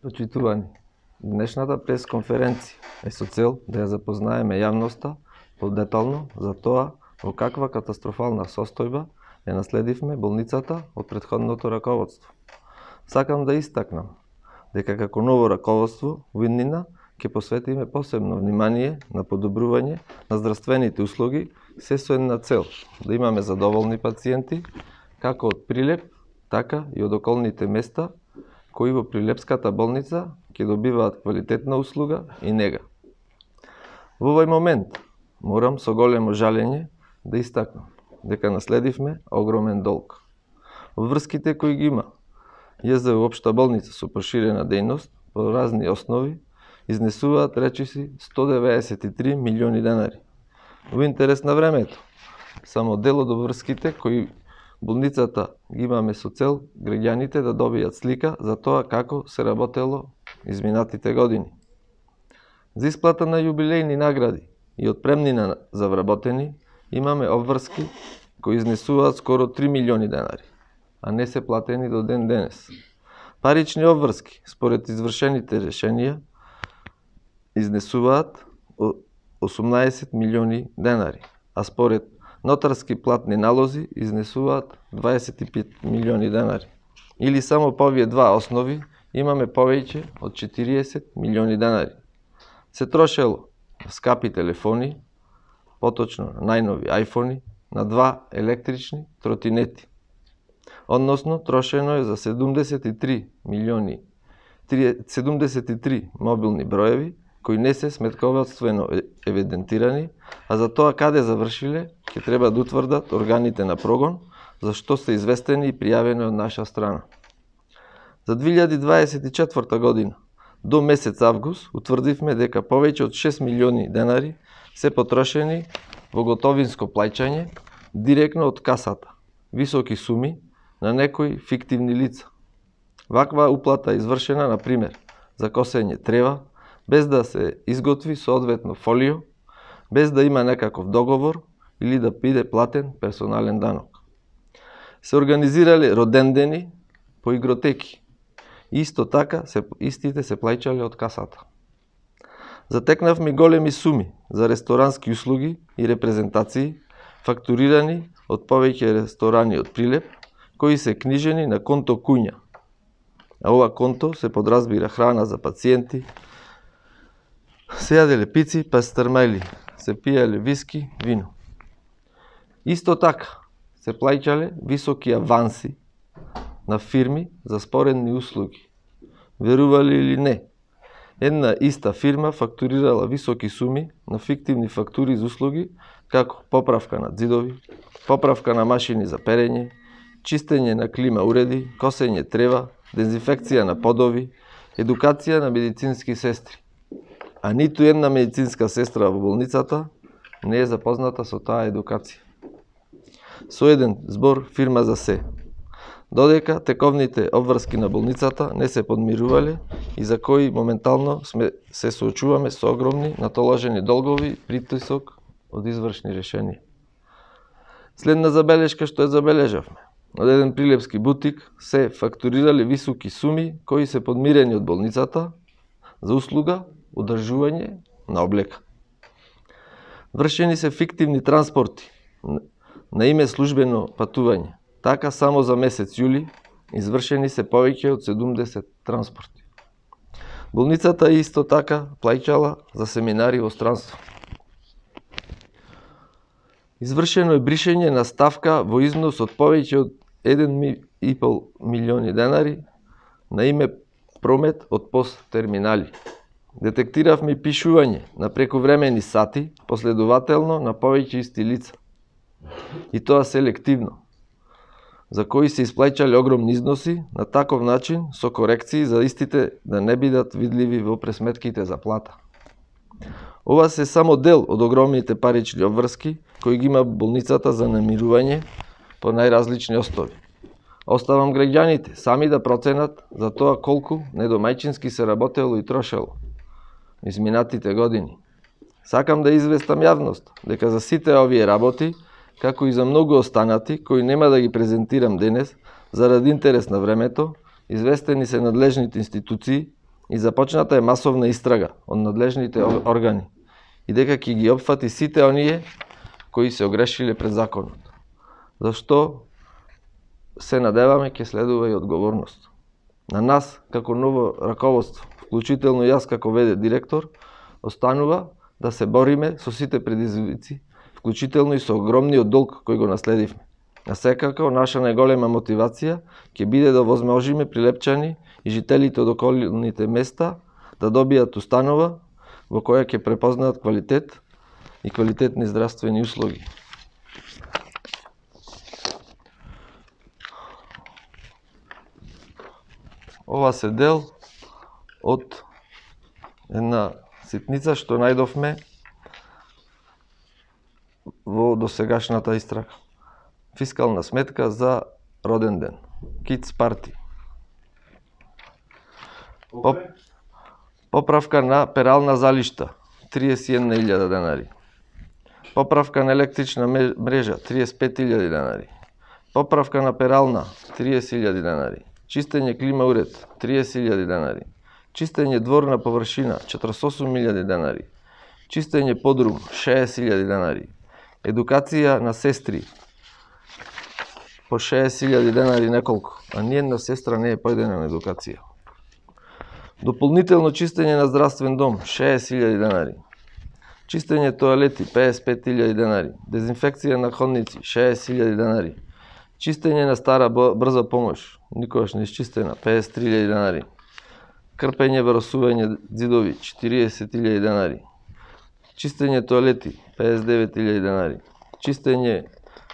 Почитувани, днешната пресконференција е со цел да ја запознаеме јавноста подетално за тоа во каква катастрофална состојба ја наследивме болницата од претходното раководство. Сакам да истакнам дека како ново раководство во иднина ќе посветиме посебно внимание на подобрување на здравствените услуги, се со една цел да имаме задоволни пациенти како од Прилеп, така и од околните места кои во Прилепската болница ќе добиваат квалитетна услуга и нега. Во овој момент морам со големо жалење да истакнам дека наследивме огромен долг. Врските кои ги има ЈЗУ општа болница со проширена дејност по разни основи изнесуваат речиси 193 милиони денари. Во интерес на времето, само дел од врските кои болницата ги имаме со цел граѓаните да добијат слика за тоа како се работело изминатите години. За исплата на јубилејни награди и отпремнина за вработени имаме обврски кои изнесуваат скоро 3 милиони денари, а не се платени до ден денес. Парични обврски, според извршените решенија, изнесуваат 18 милиони денари, а според нотарски платни налози изнесуваат 25 милиони денари. Или само по овие два основи имаме повеќе од 40 милиони денари. Се трошело на скапи телефони, поточно на најнови айфони, на два електрични тротинети. Односно, трошено е за 73 мобилни броеви, кои не се сметководствено евидентирани, а за тоа каде завршиле, ќе треба да утврдат органите на прогон, за што се известени и пријавени од наша страна. За 2024 година, до месец август, утврдивме дека повеќе од 6 милиони денари се потрошени во готовинско плаќање директно од касата, високи суми на некои фиктивни лица. Ваква уплата извршена, на пример, за косење трева, без да се изготви соодветно фолио, без да има некаков договор или да биде платен персонален данок. Се организирале родендени по игротеки. Исто така, истите се плаќале од касата. Затекнавме големи суми за ресторански услуги и репрезентации, фактурирани од повеќе ресторани од Прилеп, кои се книжени на конто куња. А ова конто се подразбира храна за пациенти, се јаделе пици, пастърмајли, се пиеле виски, вино. Исто така се плаќале високи аванси на фирми за споредни услуги. Верували или не, една иста фирма фактурирала високи суми на фиктивни фактури за услуги, како поправка на ѕидови, поправка на машини за перење, чистење на клима уреди, косење трева, дезинфекција на подови, едукација на медицински сестри. А ниту една медицинска сестра во болницата не е запозната со таа едукација. Со еден збор, фирма за се. Додека тековните обврски на болницата не се подмирувале и за кои моментално се соочуваме со огромни натоложени долгови, притисок од извршни решенија. Следна забелешка што ја забележавме. Од еден прилепски бутик се фактурирали високи суми кои се подмирени од болницата за услуга одржување на облека. Вршени се фиктивни транспорти на име службено патување. Така само за месец јули извршени се повеќе од 70 транспорти. Болницата исто така плаќала за семинари во странство. Извршено е бришење на ставка во износ од повеќе од 1,5 милиони денари на име промет од посттерминали. Детектиравме пишување на прековремени сати последователно на повеќе исти лица. И тоа селективно, за кои се исплаќале огромни износи на таков начин со корекции за истите да не бидат видливи во пресметките за плата. Ова се само дел од огромните парични обврски кои ги има болницата за намирување по најразлични основи. Оставам граѓаните сами да проценат за тоа колку недомајчински се работело и трошело изминатите години. Сакам да известам јавност дека за сите овие работи, како и за многу останати, кои нема да ги презентирам денес, заради интерес на времето, известени се надлежните институции и започната е масовна истрага од надлежните органи и дека ќе ги опфати сите оние кои се огрешиле пред законот. Зашто се надеваме ќе следува и одговорност. На нас, како ново раководство, вклучително јас како ВД директор, останува да се бориме со сите предизвици, вклучително и со огромниот долг кој го наследивме. А секако, наша најголема мотивација ќе биде да возможиме Прилепчани и жителите од околните места да добијат установа во која ќе препознаат квалитет и квалитетни здравствени услуги. Ова се дел од една ситница што најдовме во досегашната истрага. Фискална сметка за роден ден. Kids Party. Поправка на перална залишта 31.000 денари. Поправка на електрична мрежа 35.000 денари. Поправка на перална 30.000 денари. Чистење клима уред 30.000 денари. Чистење дворна површина 48.000 денари. Чистење подрум 60.000 денари. Едукација на сестри по 60.000 денари неколку, а ниједна сестра не е појдена на едукација. Дополнително чистење на здравствен дом 60.000 денари. Чистење тоалети 55.000 денари. Дезинфекција на ходници 60.000 денари. Чистење на стара брза помош, никогаш не изчистена, 53.000 денари. Крпење вросување ѕидови 40.000 денари. Чистење тоалети 59.000 денари. Чистење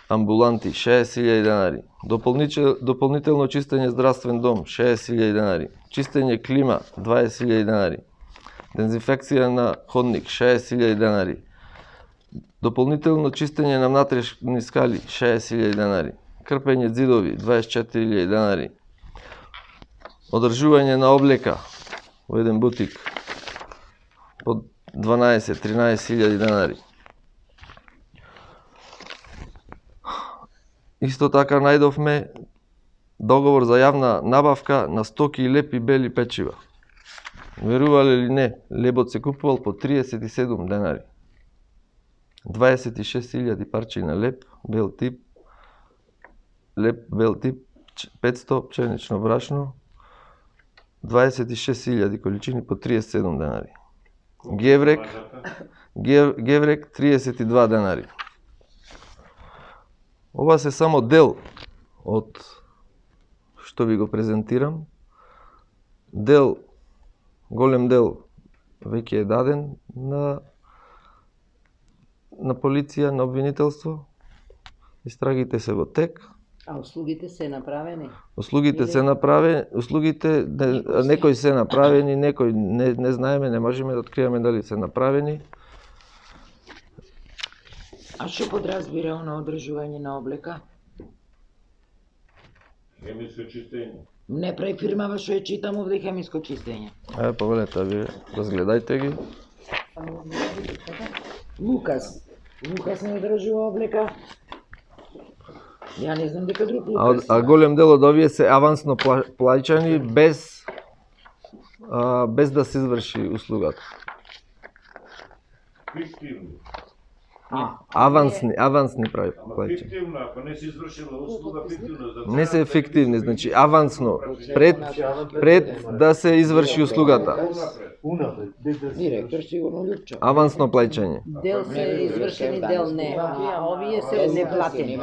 амбуланти 60.000 денари. Дополнително чистење здравствен дом 60.000 денари. Чистење клима 20.000 денари. Дезинфекција на ходник 60.000 денари. Дополнително чистење на внатрешни скали 60.000 денари. Крпење ѕидови 24.000 денари. Одржување на облека во еден бутик по 12-13.000 денари. Исто така најдовме договор за јавна набавка на стоки и леп и бели печива. Верувале ли не, лебот се купувал по 37 денари. 26.000 парчи на леп, бел тип, 500 пченично брашно, 26.000 количини по 37 денари. Геврек 32 денари. Ова се само дел од што ви го презентирам. Голем дел веќе е даден на полиција, на обвинителство. Истрагите се во тек. А услугите се направени? Услугите некои се направени, некои не знаеме, не можеме да откриеме дали се направени. А што подразбира на одржување на облека? Хемиско чистење. Не префирмава што ја читам овде хемиско чистење. Повелете, ви разгледајте ги. Лукас не одржува облека. Ја не знам дека друг Лукас. А голем дел од овие се авансно плаќани без да се изврши услугата. Фиктивно. Авансни плаќања. Фиктивно, ако не се извршила услуга, фиктивно. Не се фиктивни, значи авансно, пред да се изврши услугата. Директор сигурно Лјупчо. Авансно плаќање. Дел се извршени, дел не. А овие се неплатени.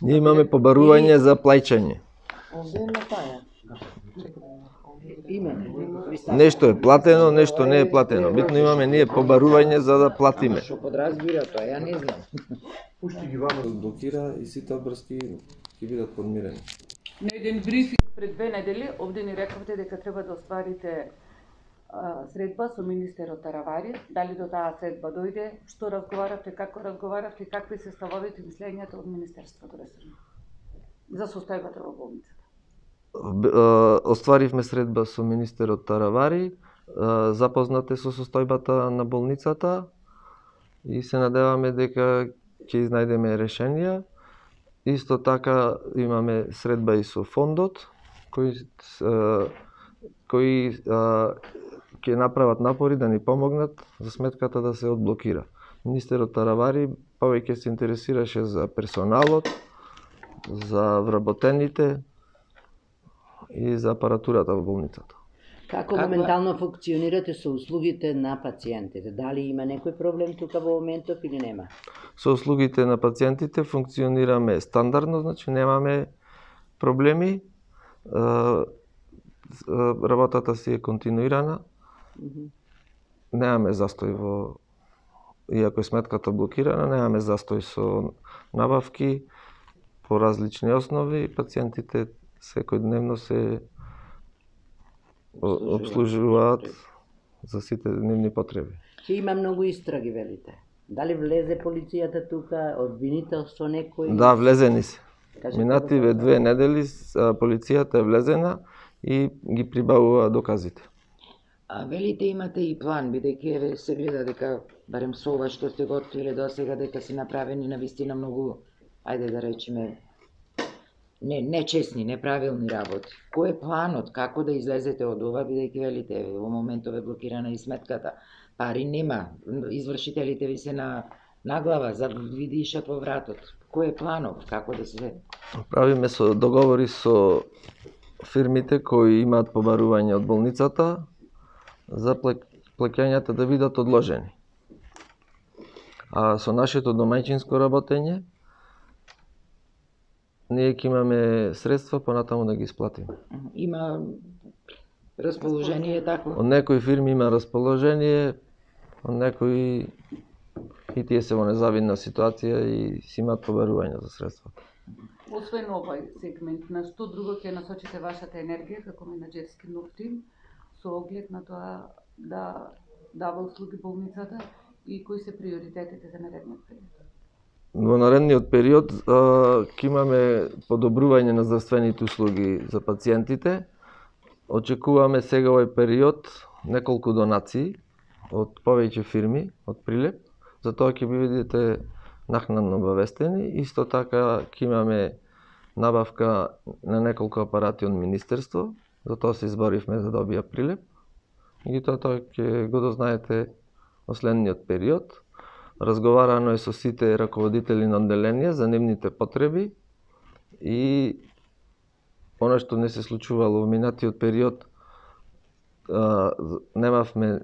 Ние имаме побарување за плаќање. Овде има таја. Нешто е платено, нешто не е платено. Битно имаме ние побарување за да платиме. Што подразбира тоа, ја не знам. Пушти ги вама блокира и сите обврски ќе бидат подмирени. На еден брифинг пред 2 недели овде ни рековте дека треба да остварите средба со министерот Таравари. Дали до таа средба дојде? Што разговаравте, како разговаравте, какви се ставовите и мислењата од министерството ресорно за состојбата во болницата? Остваривме средба со министерот Таравари, запознате со состојбата на болницата и се надеваме дека ќе изнајдеме решенија. Исто така имаме средба и со фондот, кој кои ќе направат напори да ни помогнат за сметката да се одблокира. Министерот Таравари повеќе се интересираше за персоналот, за вработените и за апаратурата во болницата. Како моментално функционирате со услугите на пациентите? Дали има некој проблем тука во моментов или нема? Со услугите на пациентите функционираме стандардно, значи немаме проблеми. Работата си е континуирана. Немаме застој во... Иако е сметката блокирана, немаме застој со набавки по различни основи. Пациентите секојдневно се обслужуваат за сите дневни потреби. Ќе има многу истраги, велите. Дали влезе полицијата тука, обвинителство некој? Да, влезени се. Минативе 2 недели полицијата е влезена и ги прибавува доказите. А велите имате и план, бидејќи се гледа дека, барем со ова што сте готвиле до сега, дека се направени навистина многу, ајде да речеме, нечесни, неправилни работи. Кој е планот, како да излезете од ова, бидејќи велите, во моментов е блокирана и сметката, пари нема, извршителите ви се на глава, ви дишат во вратот. Кој е планот, како да се... Правиме со договори со фирмите кои имаат побарување од болницата за плаќањата да бидат одложени. А со нашето домаќинско работење ние ќе имаме средства понатаму да ги исплатиме. Има расположение такво? Од некои фирми има расположение, од некои и тие се во незавидна ситуација и си имаат побарување за средствата. Освен овој сегмент, на што друго ќе насочите вашата енергија како менаџерски нов тим со оглед на тоа да дава услуги болницата и кои се приоритетите за наредниот период? Во наредниот период ќе имаме подобрување на здравствените услуги за пациентите. Очекуваме сега овој период неколку донации од повеќе фирми од Прилеп. За тоа ќе бидете накнадно обавестени. Исто така ќе имаме набавка на неколку апарати од Министерство. За тоа се изборивме да добија Прилеп. И тоа ќе го дознаете во следниот период. Разговарано е со сите раководители на одделенија за нивните потреби и она што не се случувало во минатиот период, немавме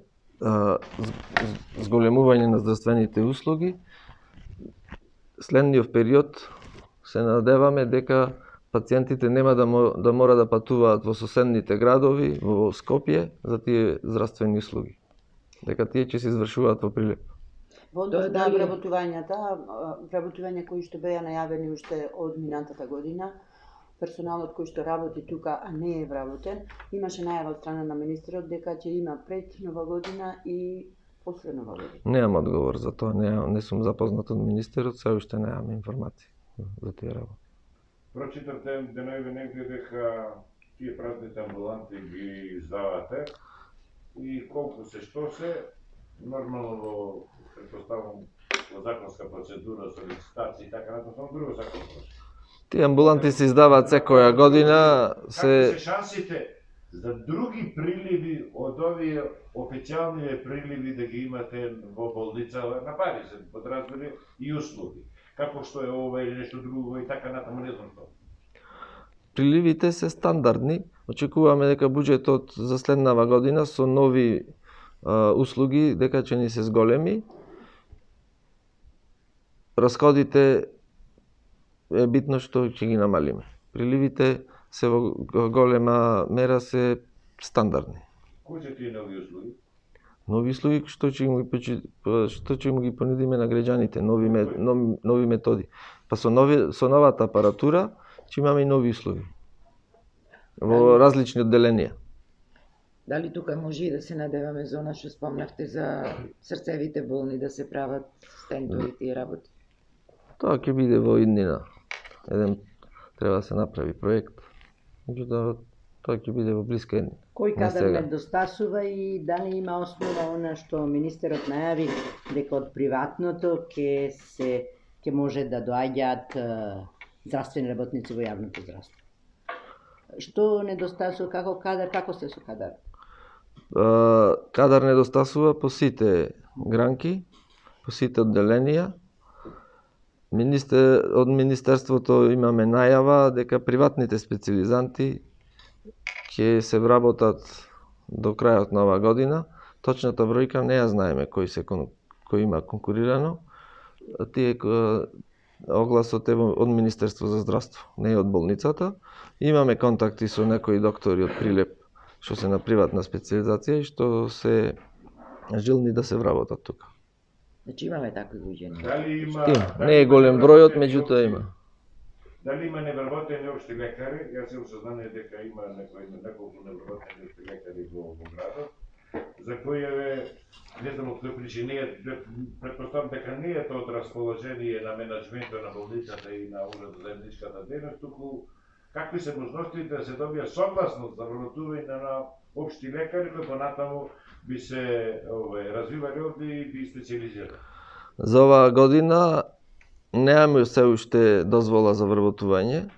зголемување на здравствените услуги. Следниот период се надеваме дека пациентите нема да мора да патуваат во соседните градови, во Скопје, за тие здравствени услуги. Дека тие ќе се извршуваат во Прилеп. Во однос на вработувања кои што беа најавени уште од минатата година, персоналот кој што работи тука, а не е вработен, имаше најава од страна на министерот дека ќе има пред Нова година и после Нова година. Немам одговор за тоа, не сум запознат од министерот, се уште немам информации за тие работи. Прочитавте денови негде дека тие празните амбуланти ги издавате и колку се што се, нормално во предпоставам во законска процедура со licitacije и така натаму, друго законско. Тие амбуланти се издаваат секоја година. Како се шансите за други приливи од овие официјални приливи да ги имате во болница на пари, се подразбери и услуги? Како што е ова или нешто друго и така натаму, не знам што. Приливите се стандардни. Очекуваме дека буџетот за следнава година со нови услуги дека ќе ни се зголеми. Расходите е битно што ќе ги намалиме. Приливите се во голема мера се стандардни. Кои се тие нови услуги? Нови услуги што ќе му ги понудиме на граѓаните, нови методи. Па со новата апаратура ќе имаме и нови услуги во различни одделенија. Дали тука може и да се надеваме за она што спомнавте за срцевите болни да се прават стентови тие работи? Тоа ќе биде во иднина. Треба да се направи проект. Меѓутоа, тоа ќе биде во блиска иднина. Кој кадар недостасува и дали има основа она што министерот најави дека од приватното ќе може да доаѓаат здравствени работници во јавното здравство? Што недостасува, како кадар, како сте со кадар? Кадар недостасува по сите гранки, по сите одделенија. Од Министерството имаме најава дека приватните специализанти ќе се вработат до крајот на оваа година. Точната бројка не ја знаеме кој има конкурирано. Тие огласот е од Министерство за здравство, не од болницата. Имаме контакти со некои доктори од Прилеп што се на приватна специализација и што се желни да се вработат тука. Значи имаме такви луѓе. Дали има... Не е голем бројот, меѓутоа има. Дали има невработени општи лекари? Јас имам сознание дека има неколку невработени општи лекари во градот, за кои не знам од кој причини, претпоставам дека не е тоа од расположение на менаџментот на болницата и на Уред за заедничката дејност, туку какви се можностите да се добија согласност за вработување на општи лекари кои понатаму би се развивали овде и би специализирали? За оваа година немаме се уште дозвола за вработување,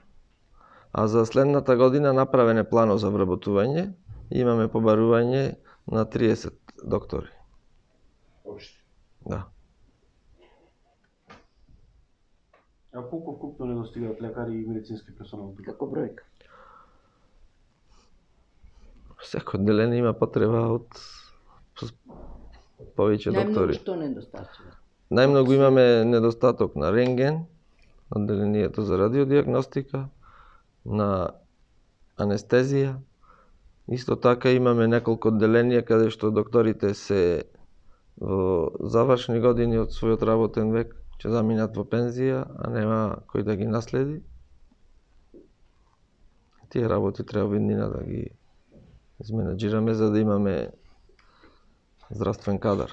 а за следната година направен е планот за вработување. Имаме побарување на 30 доктори. Општи? Да. А колку вкупно недостигаат лекари и медицински персонал? Како бројка? Секој одделение има потреба од повеќе доктори. Најмногу што недостасува? Најмногу имаме недостаток на рентген, одделението за радиодиагностика, на анестезија. Исто така имаме неколку одделенија каде што докторите се во завршни години од својот работен век, ќе заминат во пензија, а нема кој да ги наследи. Тие работи треба веднина да ги изменаџираме за да имаме здравствен кадар.